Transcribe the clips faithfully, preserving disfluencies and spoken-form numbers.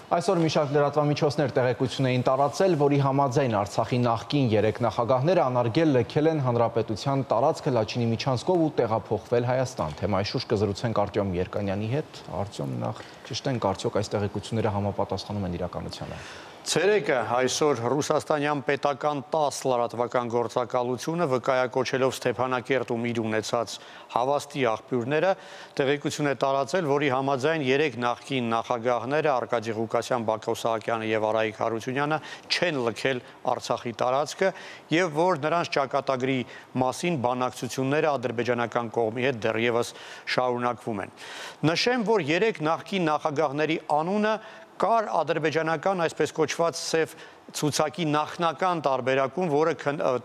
Այսօր մի շարք լրատվամիջոցներ տեղեկություն էին տարածել, որի համաձայն Արցախի նախկին երեք նախագահները անարգել լքել են հանրապետության տարածքը Լաչինի միջանցքով ու տեղափոխվել Հայաստան։ Թեմայի շուրջ կզրուցենք Արտյոմ Երկանյանի հետ։ Արտյոմ, նախ ճշտենք, արդյոք այս տեղեկությունները համապատասխանում են իրականությանը։ Ցերեկը այսօր ռուսաստանյան պետական տասը լրատվական գործակալությունը վկայակոչելով Ստեփանակերտում իր ունեցած հավաստի աղբյուրները տեղեկություն է տարածել, որի համաձայն երեք նախկին նախագահները Արկադի Ղուկասյան, Բակո Սահակյանը եւ Արայիկ Հարությունյանը չեն լքել Արցախի տարածքը եւ որ նրանց ճակատագրի մասին բանակցությունները ադրբեջանական կողմի հետ դեռևս շարունակվում են։ Նշեմ, որ երեք նախկին նախագահների անունը կար ադրբեջանական այսպես կոչված սև ցուցակի նախնական տարբերակում, որը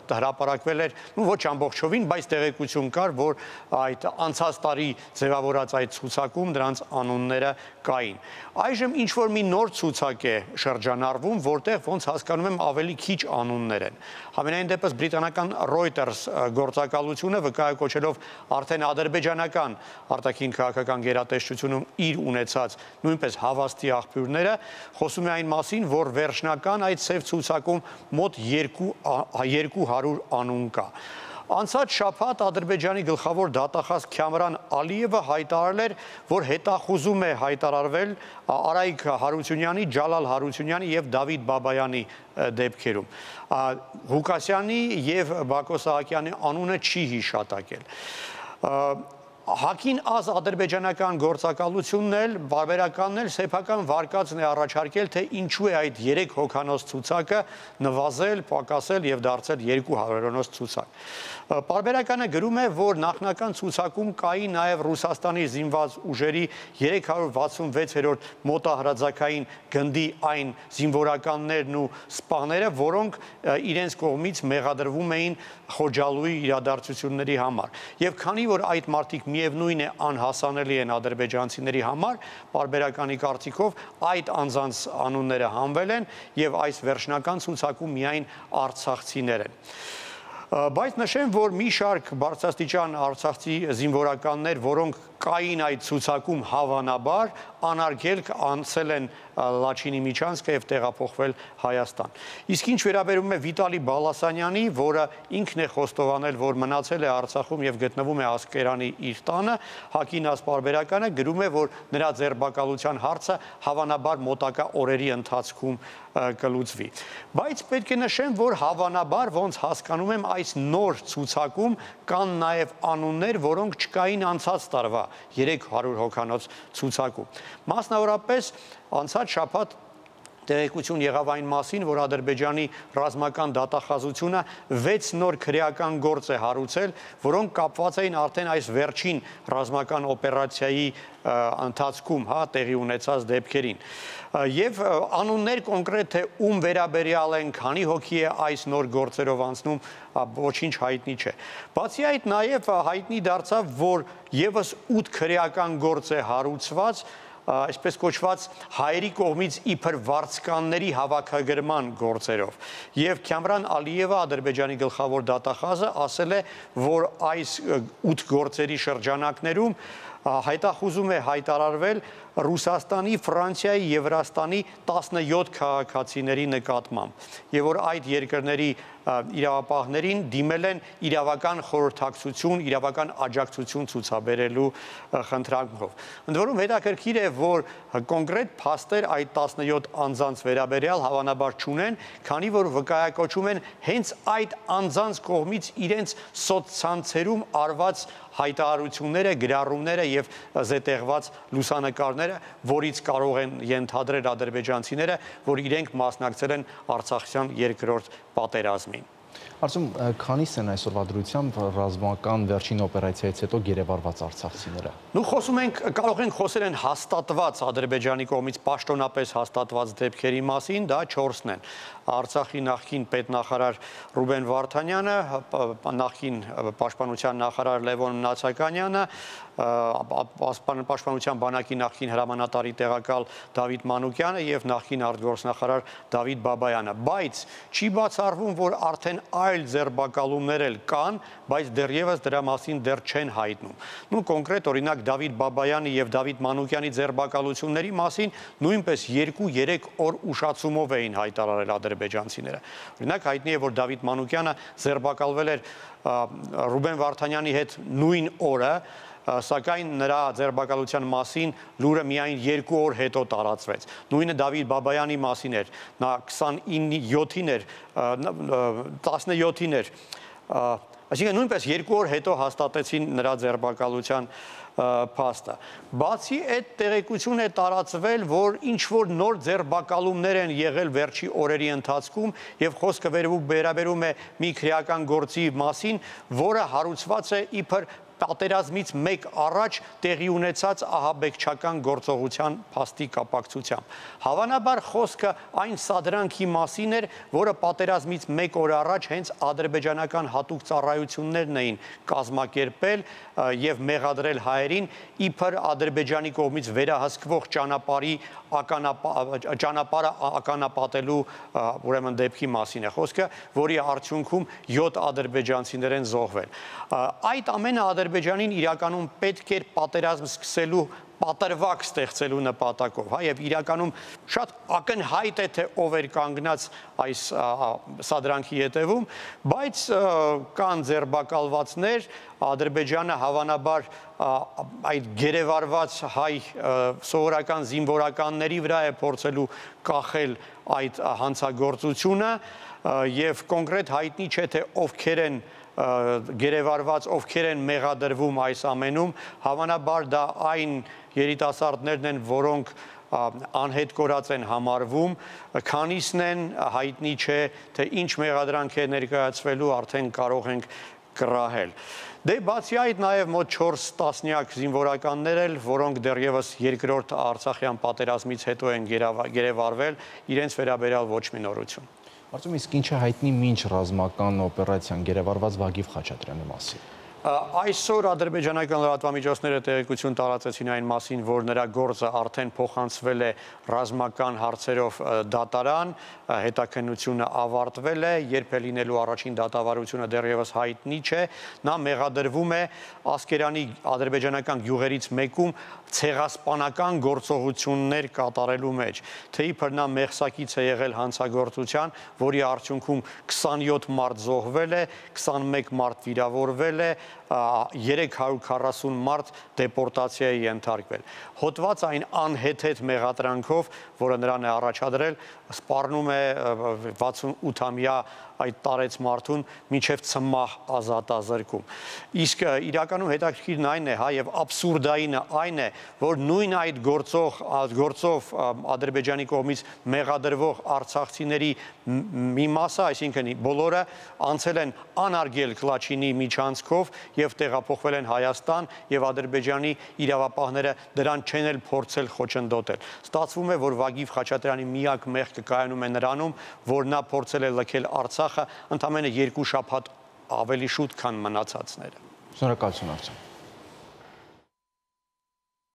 հրապարակվել էր ոչ ամբողջովին, բայց տեղեկություն կար, որ այդ անցած տարի ձևավորած այդ ցուցակում դրանց անունները կային։ Այժմ ինչ որ մի նոր ցուցակ է շրջանառվում, որտեղ ոնց հասկանում եմ ավելի քիչ անուններ են։ Համենայն դեպս բրիտանական Reuters գործակալությունը վկայակոչելով արդեն ադրբեջանական արտաքին քաղաքական գերատեսչությունում իր ունեցած նույնպես հավաստի աղբյուրները խոսում է այն մասին, որ վերջնական այդ սև ցուցակում մոտ երկու հարյուր անուն կա։ Անցած շաբաթ Ադրբեջանի գլխավոր դատախազ Քյամրան Ալիևը հայտարարել էր, որ հետախուզում է հայտարարվել Արայիկ Հարությունյանի, Ջալալ Հարությունյանի եւ Դավիթ Բաբայանի դեպքերում։ Ղուկասյանի եւ Բակո Սահակյանի անունը չի հիշատակել։ Հակին ազ ադրբեջանական գործակալությունն էլ, բարբերականն էլ սեփական վարկածն է առաջարկել, թե ինչու է այդ երեք հոգանոց ցուցակը նվազել, պակասել եւ դարձել երկու հարյուրանոց ցուցակ։ Բարբերականը գրում է, որ նախնական ցուցակում կայի նաեւ Ռուսաստանի զինված ուժերի երեք հարյուր վաթսունվեցերորդ մոտահրաձակային գնդի այն զինվորականներն ու սպաները, որոնք իրենց կողմից մեղադրվում էին Խոջալույի իրադարձությունների համար։ Եվ քանի որ այդ մարդիկ միևնույն է անհասանելի են ադրբեջանցիների համար, բարբերականի կարծիքով այդ անձանց անունները հանվել են եւ այս վերջնական ցուցակում միայն արցախցիներ են։ Բայց նշեմ, որ մի շարք բարձրաստիճան արցախցի զինվորականներ, որոնք կային այդ ցուցակում հավանաբար, անարգել անցել են Լաչինի միջանցքը եւ տեղափոխվել Հայաստան։ Իսկ ինչ վերաբերում է Վիտալի Բալասանյանի, որը ինքն է խոստովանել, որ մնացել է Արցախում եւ գտնվում է Ասկերանի իր տանը, Հակին ասպարբերականը գրում է, որ նրա ձերբակալության հարցը հավանաբար մոտակա օրերի ընթացքում կլուծվի։ Բայց պետք է նշեմ, որ հավանաբար ոնց հասկանում եմ այս նոր ցուցակում կան նաեւ անուններ, որոնք չկային անցած տարվա երեք հարյուր հոգանոց ցուցակում։ Մասնավորապես անցած շաբաթ տեղեկություն եղավ այն մասին, որ Ադրբեջանի ռազմական դատախազությունը վեց նոր քրեական գործ է հարուցել, որոնք կապված էին արդեն այս վերջին ռազմական օպերացիայի ընթացքում, հա, տեղի ունեցած դեպքերին։ Եվ անուններ կոնկրետ թե ում վերաբերյալ են, քանի հոգի է այս նոր գործերով անցնում, ոչինչ հայտնի չէ։ Բացի այդ նաև հայտնի դարձավ, որ եւս ութ քրեական գործ է հարուցված այսպես կոչված հայերի կողմից իբր վարձկանների հավաքագրման գործերով։ Եվ Քյամրան Ալիևը, Ադրբեջանի գլխավոր դատախազը, ասել է, որ այս ութ գործերի շրջանակներում հայտախուզում է հայտարարվել Ռուսաստանի, Ֆրանսիայի եւ Վրաստանի տասնյոթ քաղաքացիների նկատմամբ եւ որ այդ երկրների իրավապահներին դիմել են իրավական խորհրդակցություն, իրավական աջակցություն ցուցաբերելու խնդրանքով։ Ընդ որում հետաքրքիր է, որ կոնկրետ փաստեր այդ տասնյոթ անձանց վերաբերյալ հավանաբար չունեն, քանի որ վկայակոչում են հենց այդ անձանց կողմից իրենց սոցցանցերում արված հայտարարությունները, գրառումները եւ զետեղված լուսանկարները, որից կարող են ենթադրել ադրբեջանցիները, որ իրենք մասնակցել են Արցախյան երկրորդ պատերազմին։ Արծում, քանիս են այսօրվա դրությամբ ռազմական վերջին օպերացիայից հետո գերեվարված արցախցիները։ Նու խոսում ենք, կարող ենք խոսել են հաստատված Ադրբեջանի կողմից պաշտոնապես հաստատված դեպքերի մասին, դա չորսն են։ Արցախի նախկին պետնախարար Ռուբեն Վարդանյանը, նախկին պաշտպանության նախարար Լևոն Նացականյանը, Պաշտպանության բանակի նախկին հրամանատարի տեղակալ Դավիթ Մանուկյանը եւ նախկին արտգործնախարար Դավիթ Բաբայանը, բայց չի բացառվում, որ արդեն այլ ձերբակալումներ էլ կան, բայց դեռևս դրա մասին դեռ չեն հայտնում։ Նու կոնկրետ օրինակ Դավիթ Բաբայանի եւ Դավիթ Մանուկյանի ձերբակալությունների մասին նույնպես երկու-երեք օր ուշացումով էին հայտարարել ադրբեջանցիները։ Օրինակ հայտնի է, որ Դավիթ Մանուկյանը ձերբակալվել էր Ռուբեն Վարդանյանի հետ նույն օրը, սակայն նրա ձերբակալության մասին լուրը միայն երկու օր հետո տարածվեց։ Նույնը Դավիթ Բաբայանի մասին էր, նա քսանինը էր, տասնյոթին էր, այսինքն նույնպես երկու օր հետո հաստատեցին նրա ձերբակալության փաստը։ Բացի այդ տեղեկություն է տարածվել, որ ինչ-որ նոր ձերբակալումներ են եղել վերջի օրերի ընթացքում եւ խոսքը վերաբերում է մի քրեական գործի մասին, որը հարուցված է իբր պատերազմից մեկ առաջ տեղի ունեցած ահաբեկչական գործողության փաստի կապակցությամբ։ Հավանաբար խոսքը այն սադրանքի մասին էր, որը պատերազմից մեկ օր առաջ հենց ադրբեջանական հատուկ ծառայություններն էին կազմակերպել եւ մեղադրել հայերին իբր Ադրբեջանի կողմից վերահսկվող ճանապարհի ճանապարհը ականապատելու ուրեմն դեպքի մասին է խոսքը, որի արդյունքում յոթ ադրբեջանցիներ են զոհվել։ Այդ ամենը Ադրբեջանին իրականում պետք էր պատերազմ սկսելու պատրվակ ստեղծելու նպատակով, հա, եւ իրականում շատ ակնհայտ է, թե ով էր կանգնած այս սադրանքի հետևում, բայց կան ձերբակալվածներ, Ադրբեջանը հավանաբար այդ գերեվարված հայ սովորական զինվորականների վրա է փորձելու կախել այդ հանցագործությունը եւ կոնկրետ հայտնի չէ, թե ովքեր են գերեվարված, ովքեր են մեղադրվում այս ամենում, հավանաբար դա այն երիտասարդներն են, որոնք անհետ կորած են համարվում, քանիսն են հայտնի չէ, թե ինչ մեղադրանք է ներկայացվելու, արդեն կարող ենք կռահել։ Դե բացի այդ նաև մոտ չորս տասնյակ զինվորականներ էլ, որոնք դեռևս երկրորդ Արցախյան պատերազմից հետո են գերեվարվել, իրենց վերաբերյալ ոչ մի նորություն։ Արդյոք իսկ ինչ է հայտնի մինչ ռազմական օպերացիան գերեվարված Վագիվ Խաչատրյանի մասին։ Այսօր ադրբեջանական լրատվամիջոցները տեղեկություն տարածեցին այն մասին, որ նրա գործը արդեն փոխանցվել է ռազմական հարցերով դատարան, հետաքննությունը ավարտվել է, երբ է լինելու առաջին դատավարությունը դեռևս հայտնի չէ, նա մեղադրվում է Ասկերանի ադրբեջանական գյուղերից մեկում ցեղասպանական գործողություններ կատարելու մեջ, թե իբր նա մեղսակից է եղել հանցագործության, որի արդյունքում քսանյոթ մարդ զոհվել է, քսանմեկ մարդ վիրավորվել է, երեք հարյուր քառասուն մարդ դեպորտացիայի ենթարկվել։ Հոտված այն անհեթեթ մեղադրանքով, որը նրան է առաջադրել, սպառնում է վաթսունութամյա այդ տարեց մարդուն մինչև ցմահ ազատազրկում։ Իսկ իրականում հետաքրքիրն այն է, հա, եւ աբսուրդայինը այն է, որ նույն այդ գործող գործով Ադրբեջանի կողմից մեղադրվող արցախցիների մի մասը, այսինքն բոլորը անցել են անարգել Կլաչինի միջանցքով եւ տեղափոխվել են Հայաստան եւ Ադրբեջանի իրավապահները դրան չեն էլ փորձել խոչընդոտել։ Ստացվում է, որ Վագիվ Խաչատրյանի միակ մեղքը կայանում է նրանում, որ նա փորձել է լքել Արցախը ընդամենը երկու շաբաթ ավելի շուտ, քան մնացածները։ Շնորհակալություն, Արտем։